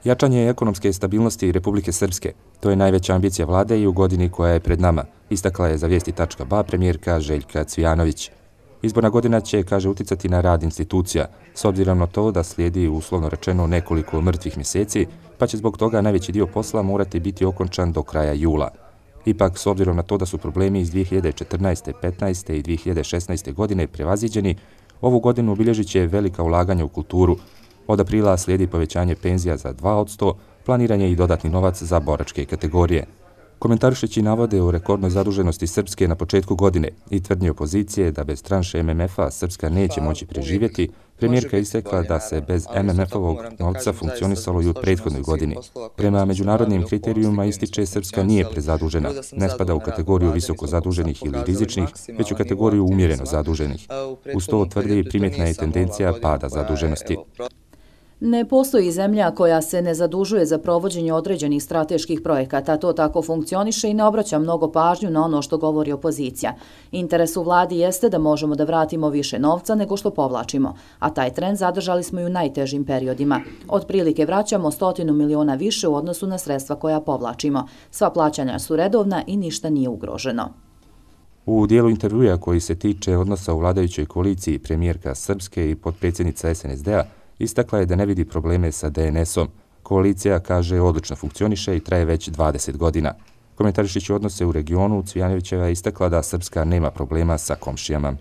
Jačanje ekonomske stabilnosti Republike Srpske, to je najveća ambicija vlade i u godini koja je pred nama, istakla je za vijesti.ba premijerka Željka Cvijanović. Izborna godina će, kaže, uticati na rad institucija, s obzirom na to da slijedi uslovno rečeno nekoliko mrtvih mjeseci, pa će zbog toga najveći dio posla morati biti okončan do kraja jula. Ipak, s obzirom na to da su problemi iz 2014., 15. i 2016. godine prevaziđeni, ovu godinu obilježit će velika ulaganja u kulturu. Od aprila slijedi povećanje penzija za 2%, planiran je i dodatni novac za boračke kategorije. Komentarišeći navode o rekordnoj zaduženosti Srpske na početku godine i tvrdnje opozicije da bez tranše MMF-a Srpska neće moći preživjeti, premijerka istakla da se bez MMF-ovog novca funkcionisalo i u prethodnoj godini. Prema međunarodnim kriterijuma ističe Srpska nije prezadužena, ne spada u kategoriju visoko zaduženih ili rizičnih, već u kategoriju umjereno zaduženih. Uz to tvrdi primjetna je tendencija pada zaduženosti. Ne postoji zemlja koja se ne zadužuje za provođenje određenih strateških projekata. To tako funkcioniše i ne obraća mnogo pažnju na ono što govori opozicija. Interes u vladi jeste da možemo da vratimo više novca nego što povlačimo, a taj trend zadržali smo i u najtežim periodima. Otprilike vraćamo 100 miliona više u odnosu na sredstva koja povlačimo. Sva plaćanja su redovna i ništa nije ugroženo. U dijelu intervjua koji se tiče odnosa u vladajućoj koaliciji premijerka Srpske i potpredsjednica SNSD-a istakla je da ne vidi probleme sa DNS-om. Koalicija, kaže, odlično funkcioniše i traje već 20 godina. Komentarišući odnose u regionu, Cvijanovićeva je istakla da Srpska nema problema sa komšijama.